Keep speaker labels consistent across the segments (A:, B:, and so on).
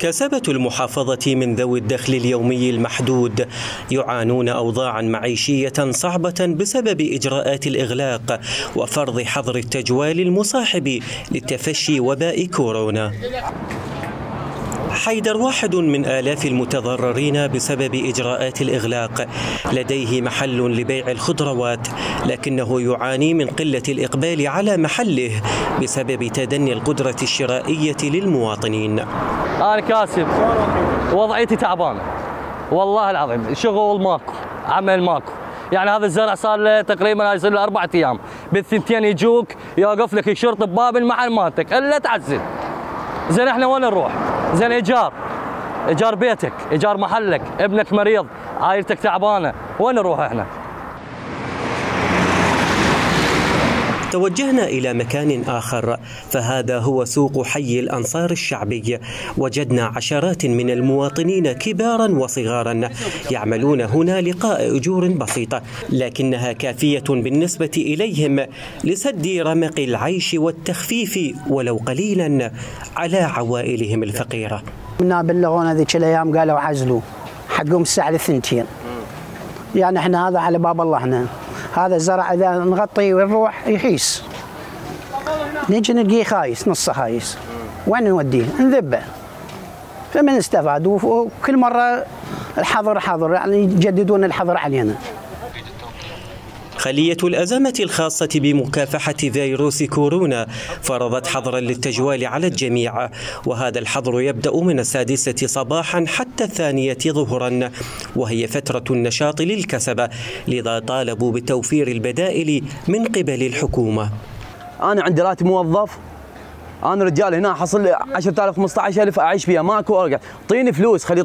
A: كسبة المحافظة من ذوي الدخل اليومي المحدود يعانون أوضاعا معيشية صعبة بسبب إجراءات الإغلاق وفرض حظر التجوال المصاحب لتفشي وباء كورونا. حيدر واحد من آلاف المتضررين بسبب إجراءات الإغلاق، لديه محل لبيع الخضروات لكنه يعاني من قلة الإقبال على محله بسبب تدني القدرة الشرائية للمواطنين.
B: أنا كاسب، وضعيتي تعبانة والله العظيم، شغل ماكو، عمل ماكو، يعني هذا الزرع صار له تقريبا يصير له 4 أيام، بالثنتين يجوك يوقف لك الشرطة بباب المحل مالتك الا تعزل. زين احنا وين نروح؟ زين ايجار بيتك، ايجار محلك، ابنك مريض، عائلتك تعبانه، وين نروح احنا؟
A: توجهنا إلى مكان آخر، فهذا هو سوق حي الأنصار الشعبي. وجدنا عشرات من المواطنين كبارا وصغارا يعملون هنا لقاء أجور بسيطة، لكنها كافية بالنسبة إليهم لسد رمق العيش والتخفيف ولو قليلا على عوائلهم الفقيرة.
C: منا بلغونا ذيك الأيام قالوا عزلوا حقهم الساعة 2، يعني احنا هذا على باب الله. احنا هذا الزرع اذا نغطي ونروح يخيس، نجي نلقيه خايس، نصه خايس، وين نوديه؟ نذبه. فمن استفاد؟ وكل مره الحظر حظر، يعني يجددون الحظر علينا.
A: خلية الأزمة الخاصة بمكافحة فيروس كورونا فرضت حظرا للتجوال على الجميع، وهذا الحظر يبدأ من 6 صباحا حتى 2 ظهرا، وهي فترة النشاط للكسبة، لذا طالبوا بتوفير البدائل من قبل الحكومة.
D: أنا عندي راتب موظف، أنا رجال هنا حصل 10,000 15,000 أعيش فيها، ماكو أرجع، اعطيني فلوس، خلي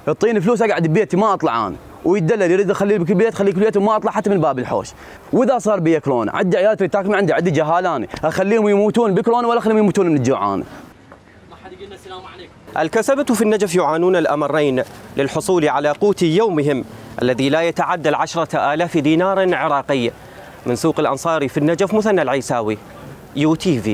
D: اعطيني فلوس أقعد ببيتي ما أطلع أنا. ويدلل يريد يخليه بالبيت، خليه بالبيت وما اطلع حتى من باب الحوش. واذا صار بي كورونا عندي عيال تريد تاكل، عندي جهالاني، اخليهم يموتون بكورونا ولا اخليهم يموتون من الجوعان.
A: ما حد يقول لنا السلام عليكم. الكسبة في النجف يعانون الامرين للحصول على قوت يومهم الذي لا يتعدى 10,000 دينار عراقي. من سوق الانصاري في النجف، مثنى العيساوي، UTV.